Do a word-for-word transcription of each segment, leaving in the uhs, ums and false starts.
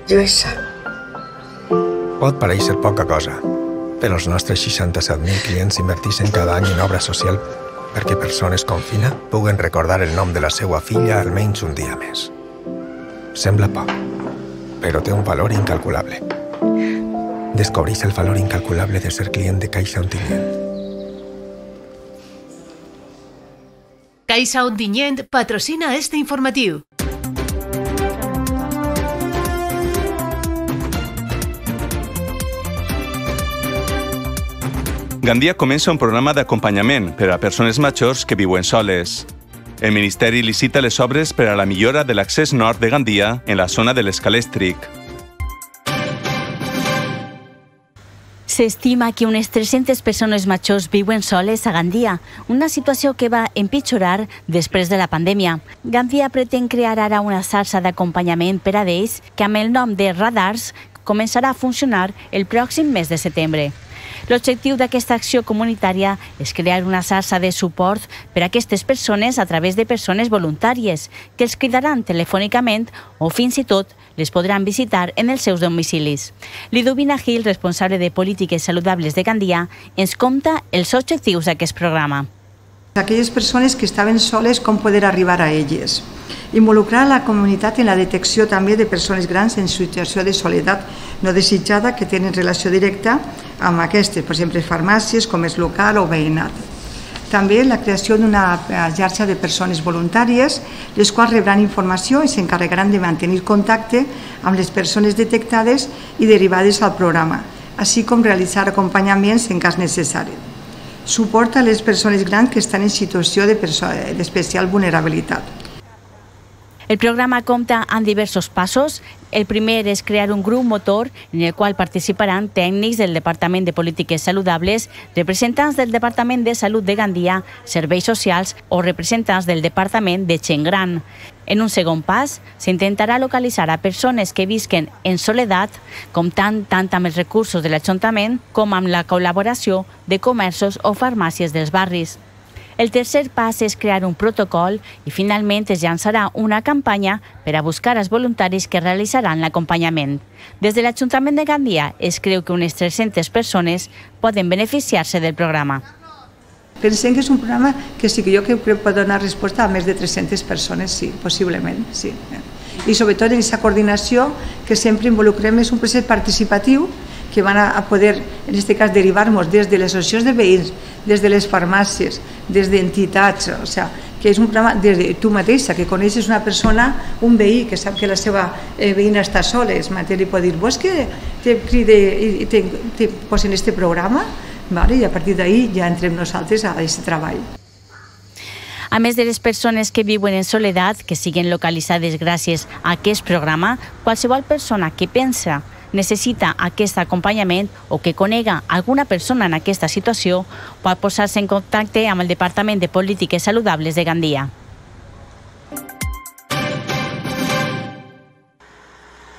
Lluïsa. Pot parèixer poca cosa, però els nostres seixanta-set mil clients inverteixen cada any en obra social perquè persones com Fina puguen recordar el nom de la seva filla almenys un dia més. Sembla poc, però té un valor incalculable. Descobreix el valor incalculable de ser client de Caixa Ontinyent. Caixa Ontinyent patrocina este informatiu. Gandia comença un programa d'acompanyament per a persones majors que viuen soles. El Ministeri licita les obres per a la millora de l'accés nord de Gandia en la zona de l'Escalèstric. S'estima que unes tres-centes persones majors viuen soles a Gandia, una situació que va empitjorar després de la pandèmia. Gandia pretén crear ara una xarxa d'acompanyament per a ells que amb el nom de Radars començarà a funcionar el pròxim mes de setembre. L'objectiu d'aquesta acció comunitària és crear una xarxa de suport per a aquestes persones a través de persones voluntàries que els cridaran telefònicament o fins i tot les podran visitar en els seus domicilis. Liduvina Gil, responsable de Polítiques Saludables de Gandia, ens conta els objectius d'aquest programa. Aquelles persones que estaven soles, com poder arribar a elles. Involucrar la comunitat en la detecció també de persones grans en situació de soledat no desitjada que tenen relació directa amb aquestes, per exemple, farmàcies, comerç local o veïnat. També la creació d'una xarxa de persones voluntàries, les quals rebran informació i s'encarregaran de mantenir contacte amb les persones detectades i derivades al programa, així com realitzar acompanyaments en cas necessari. Suport a les persones grans que estan en situació d'especial vulnerabilitat. El programa compta amb diversos passos. El primer és crear un grup motor en el qual participaran tècnics del Departament de Polítiques Saludables, representants del Departament de Salut de Gandia, Serveis Socials o representants del Departament de Gent Gran. En un segon pas, s'intentarà localitzar a persones que visquen en soledat, comptant tant amb els recursos de l'Ajuntament com amb la col·laboració de comerços o farmàcies dels barris. El tercer pas és crear un protocol i finalment es llançarà una campanya per a buscar els voluntaris que realitzaran l'acompanyament. Des de l'Ajuntament de Gandia es creu que unes tres-centes persones poden beneficiar-se del programa. Pensem que és un programa que sí que jo crec que pot donar resposta a més de tres-centes persones, sí, possiblement, sí. I sobretot en aquesta coordinació que sempre involucrem és un procés participatiu que van a poder, en aquest cas, derivar-nos des de les associacions de veïns, des de les farmàcies, des d'entitats, o sigui, que és un programa des de tu mateixa, que coneixes una persona, un veí que sap que la seva veïna està sola, és mateix li pot dir, vols que te cride i te posen en aquest programa? I a partir d'ahir ja entrem nosaltres a aquest treball. A més de les persones que viuen en soledat, que siguen localitzades gràcies a aquest programa, qualsevol persona que pensa necessita aquest acompanyament o que conega alguna persona en aquesta situació pot posar-se en contacte amb el Departament de Polítiques Saludables de Gandia.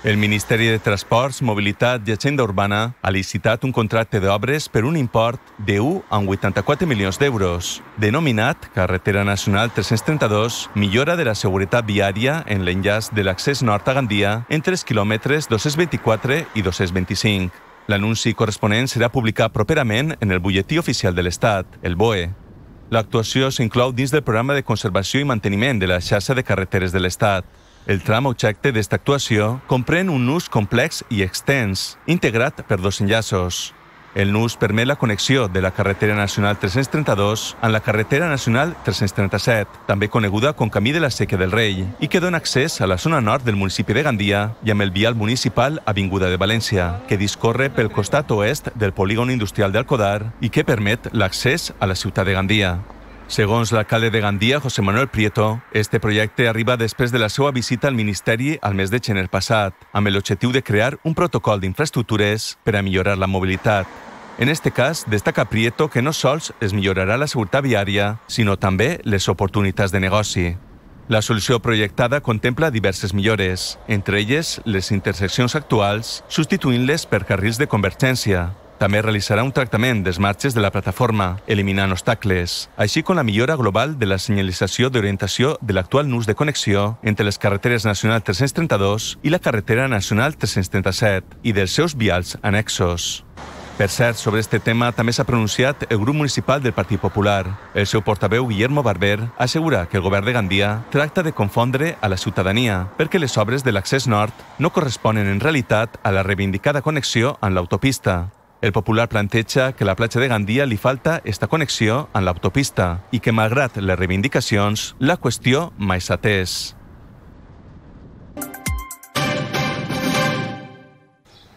El Ministeri de Transports, Mobilitat i Agenda Urbana ha licitat un contracte d'obres per un import de u coma vuitanta-quatre milions d'euros, denominat Carretera Nacional tres-cents trenta-dos, millora de la seguretat viària en l'enllaç de l'accés nord a Gandia entre els quilòmetres dos-cents vint-i-quatre i dos-cents vint-i-cinc. L'anunci corresponent serà publicat properament en el butlletí oficial de l'Estat, el B O E. L'actuació s'inclou dins del programa de conservació i manteniment de la xarxa de carreteres de l'Estat. El tram objecte d'esta actuació comprèn un nus complex i extens, integrat per dos enllaços. El nus permet la connexió de la carretera nacional tres-cents trenta-dos amb la carretera nacional tres-cents trenta-set, també coneguda com Camí de la Sèquia del Rei, i que dona accés a la zona nord del municipi de Gandia i amb el vial municipal Avinguda de València, que discorre pel costat oest del polígon industrial d'Alcodar i que permet l'accés a la ciutat de Gandia. Segons l'alcalde de Gandia, José Manuel Prieto, este projecte arriba després de la seva visita al Ministeri al mes de gener passat, amb l'objectiu de crear un protocol d'infraestructures per a millorar la mobilitat. En este cas, destaca Prieto que no sols es millorarà la seguretat viària, sinó també les oportunitats de negoci. La solució projectada contempla diverses millores, entre elles les interseccions actuals, substituint-les per carrils de convergència. També realitzarà un tractament dels marges de la plataforma, eliminant obstacles, així com la millora global de la senyalització d'orientació de l'actual nus de connexió entre les carreteres nacional tres-cents trenta-dos i la carretera nacional tres-cents trenta-set i dels seus vials annexos. Per cert, sobre este tema també s'ha pronunciat el grup municipal del Partit Popular. El seu portaveu, Guillermo Barber, assegura que el govern de Gandia tracta de confondre a la ciutadania perquè les obres de l'accés nord no corresponen en realitat a la reivindicada connexió amb l'autopista. El Popular planteja que a la platja de Gandia li falta esta connexió amb l'autopista i que, malgrat les reivindicacions, la qüestió mai s'ha atès.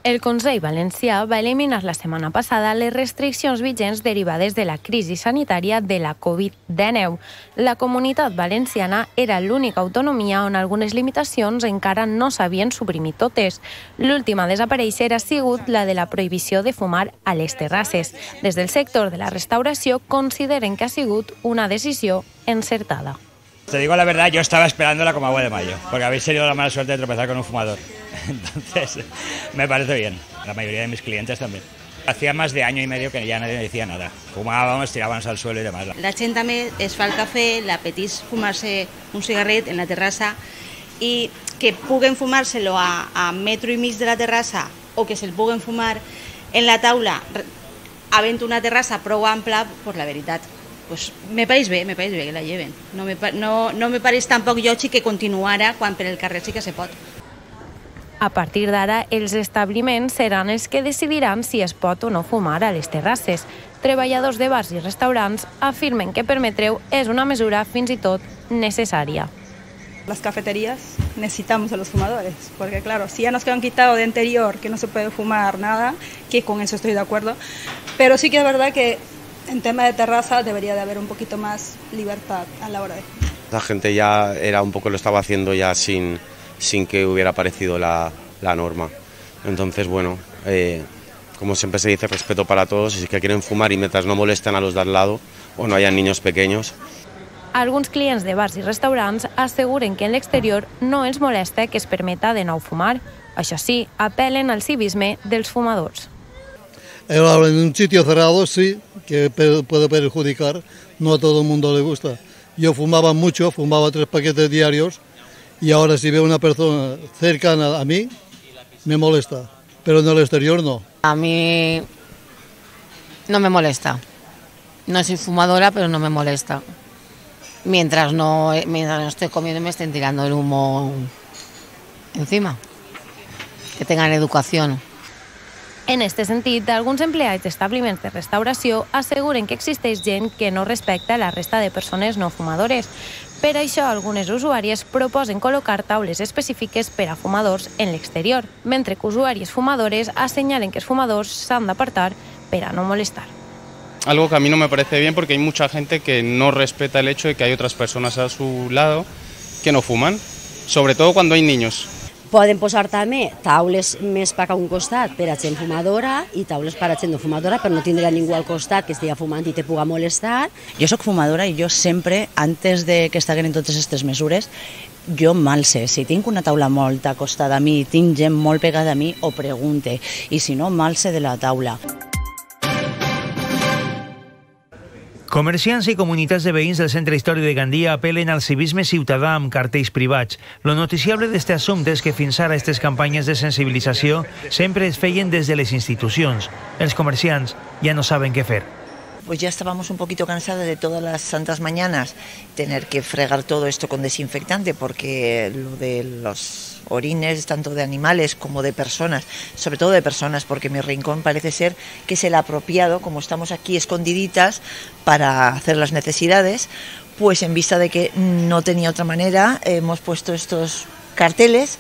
El Consell Valencià va eliminar la setmana passada les restriccions vigents derivades de la crisi sanitària de la covid dinou. La Comunitat Valenciana era l'única autonomia on algunes limitacions encara no s'havien suprimit totes. L'última a desaparèixer ha sigut la de la prohibició de fumar a les terrasses. Des del sector de la restauració consideren que ha sigut una decisió encertada. Te digo la verdad, yo estaba esperándola como agua de mayo, porque habéis tenido la mala suerte de tropezar con un fumador. Entonces, me parece bien. La mayoría de mis clientes también. Hacía más de año y medio que ya nadie me decía nada. Fumábamos, tirábamos al suelo y demás. La gent també es fa el cafè, l'apetís fumar-se un cigarret en la terrassa i que puguen fumar-se-lo a, a metro i mig de la terrassa o que se'l puguen fumar en la taula havent una terrassa prou ampla, pues la veritat, pues me pareix bé, me pareix bé que la lleven. No me, no, no me pareix tampoc lògic que continuara quan per el carrer sí que se pot. A partir d'ara, els establiments seran els que decidiran si es pot o no fumar a les terrasses. Treballadors de bars i restaurants afirmen que permetreu és una mesura fins i tot necessària. Las cafeterías necesitamos a los fumadores, porque claro, si ya nos quedan quitado de anterior que no se puede fumar nada, que con eso estoy de acuerdo, pero sí que es verdad que en tema de terraza debería de haber un poquito más libertad a la hora de... La gente ya era un poco lo estaba haciendo ya sin, sin que hubiera aparecido la, la norma. Entonces, bueno, eh, como siempre se dice, respeto para todos, y si que quieren fumar y mientras no molesten a los de al lado o no hayan niños pequeños. Alguns clients de bars i restaurants asseguren que en l'exterior no els molesta que es permeta de nou fumar. Això sí, apel·len al civisme dels fumadors. En un sitio cerrado sí, que puede perjudicar, no a todo el mundo le gusta. Yo fumaba mucho, fumaba tres paquetes diarios y ahora si veo una persona cercana a mí, me molesta, pero en el exterior no. A mí no me molesta. No soy fumadora, pero no me molesta. Mientras no, mientras no estoy comiendo y me estén tirando el humo encima. Que tengan educación. En este sentit, alguns empleats d'establiments de restauració asseguren que existeix gent que no respecta la resta de persones no fumadores. Per això, algunes usuàries proposen col·locar taules específiques per a fumadors en l'exterior, mentre que usuàries fumadores assenyalen que els fumadors s'han d'apartar per a no molestar. Algo que a mí no me parece bien porque hay mucha gente que no respeta el hecho de que hay otras personas a su lado que no fuman, sobre todo cuando hay niños. Poden posar també taules més per a un costat per a gent fumadora i taules per a gent no fumadora, però no tindrà ningú al costat que estigui fumant i te puga molestar. Jo soc fumadora i jo sempre, antes de que estiguin totes aquestes mesures, jo malse. Si tinc una taula molt acostada a mi, tinc gent molt pegada a mi, ho pregunte. I si no, malse de la taula. Comerciants i comunitats de veïns del Centre Històric de Gandia apel·len al civisme ciutadà amb cartells privats. Lo noticiable d'este assumpte és que fins ara aquestes campanyes de sensibilització sempre es feien des de les institucions. Els comerciants ja no saben què fer. Pues ya estábamos un poquito cansados de todas las santas mañanas tener que fregar todo esto con desinfectante, porque lo de los orines, tanto de animales como de personas, sobre todo de personas, porque mi rincón parece ser que es el apropiado, como estamos aquí escondiditas para hacer las necesidades, pues en vista de que no tenía otra manera, hemos puesto estos carteles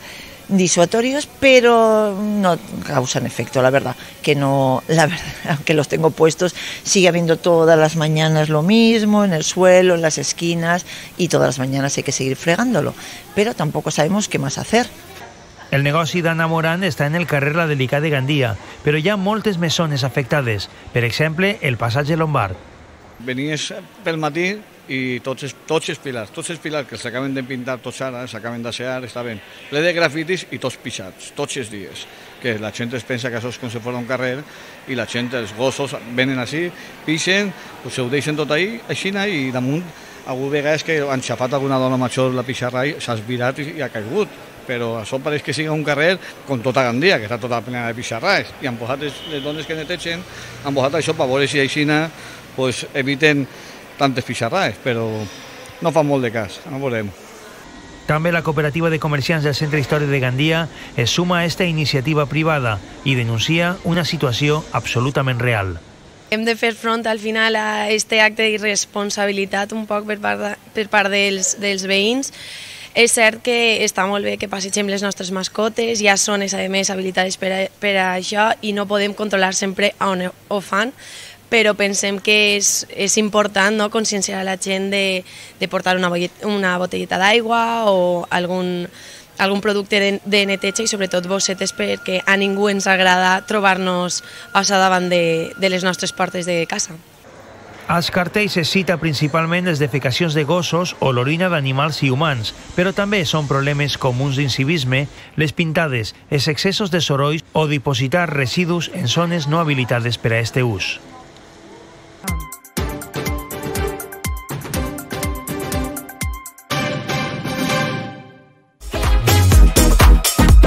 disuasorios, pero no causan efecto, la verdad, que no, la verdad, aunque los tengo puestos, sigue habiendo todas las mañanas lo mismo, en el suelo, en las esquinas, y todas las mañanas hay que seguir fregándolo, pero tampoco sabemos qué más hacer. El negoci d'Anna Moran està en el carrer La Delicada de Gandia, però hi ha moltes més zones afectades, per exemple, el passatge Lombard. Venies pel matí i tots els, tots els pilars, tots els pilars que s'acaben de pintar tots ara, s'acaben d'asear, està ben ple de grafitis i tots pixats, tots els dies. Que la gent es pensa que això és com si fos un carrer i la gent, els gossos, venen així, pixen, pues, ho deixen tot ahí, així, i damunt, alguna vegada és que han xapat alguna dona major la pixarra i s'ha esvirat i, i ha caigut. Però això pareix que sigui un carrer com tota Gandia, que està tota plena de pixarraes, i han posat les, les dones que netegen, han posat això per veure si aixina pues, eviten tantes pixarraes, però no fa molt de cas, no veurem. També la Cooperativa de Comerciants del Centre Històric de Gandia es suma a esta iniciativa privada i denuncia una situació absolutament real. Hem de fer front al final a aquest acte d'irresponsabilitat un poc per part, de, per part dels, dels veïns. És cert que està molt bé que passegem les nostres mascotes, hi ha zones a més habilitades per a, per a això i no podem controlar sempre on ho fan, però pensem que és, és important, no?, conscienciar a la gent de, de portar una, una botelleta d'aigua o algun, algun producte de, de neteja i sobretot bossetes, perquè a ningú ens agrada trobar-nos a davant de, de les nostres portes de casa. Als cartells es cita principalment les defecacions de gossos o l'orina d'animals i humans, però també són problemes comuns d'incivisme, les pintades, els excessos de sorolls o dipositar residus en zones no habilitades per a este ús.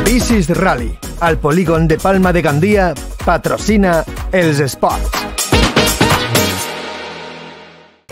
Bicis Rally, al polígon de Palma de Gandia, patrocina els esports.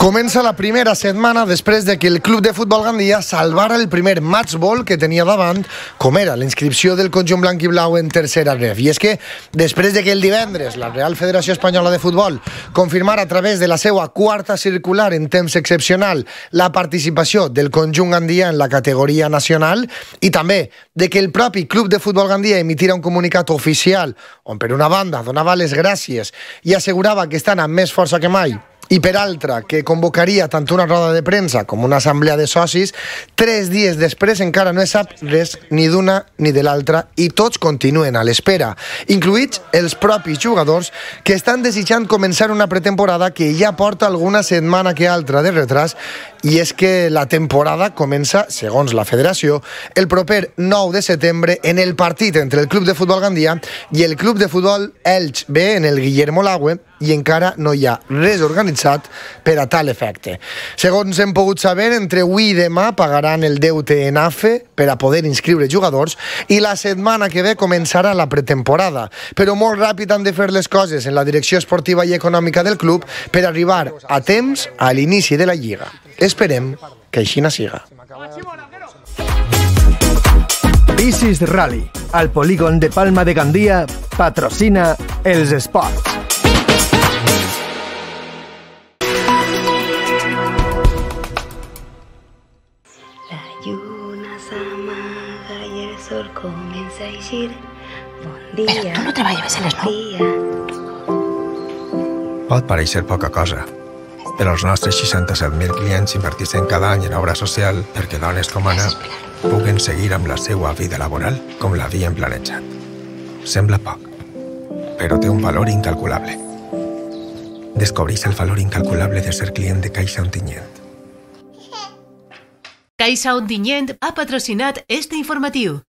Comença la primera setmana després de que el Club de Futbol Gandia salvara el primer matchball que tenia davant, com era la inscripció del conjunt blanc i blau en tercera ref. I és que, després de que el divendres la Real Federació Espanyola de Futbol confirmara a través de la seva quarta circular en temps excepcional la participació del conjunt gandia en la categoria nacional i també de que el propi Club de Futbol Gandia emitira un comunicat oficial on per una banda donava les gràcies i assegurava que estan amb més força que mai i per altra, que convocaria tant una roda de premsa com una assemblea de socis, tres dies després encara no es sap res ni d'una ni de l'altra i tots continuen a l'espera, incluïts els propis jugadors que estan desitjant començar una pretemporada que ja porta alguna setmana que altra de retras, i és que la temporada comença, segons la federació, el proper nou de setembre en el partit entre el Club de Futbol Gandia i el Club de Futbol Elx B en el Guillermo Lagüe, i encara no hi ha res organitzat per a tal efecte. Segons hem pogut saber, entre avui i demà pagaran el deute en A F E per a poder inscriure jugadors i la setmana que ve començarà la pretemporada. Però molt ràpid han de fer les coses en la direcció esportiva i econòmica del club per arribar a temps a l'inici de la Lliga. Esperem que així no siga. Bicis Rally, al polígon de Palma de Gandia, patrocina els esports. Comienza a decir bon dia. Però tu no treballes a les nou. Pot pareixer poca cosa, però els nostres seixanta-set mil clients inverteixen cada any en obra social perquè dones com Anna puguen seguir amb la seva vida laboral com l'havien planejat. Sembla poc, però té un valor incalculable. Descobreix el valor incalculable de ser client de Caixa Ontinyent. Caixa Ontinyent ha patrocinat este informatiu.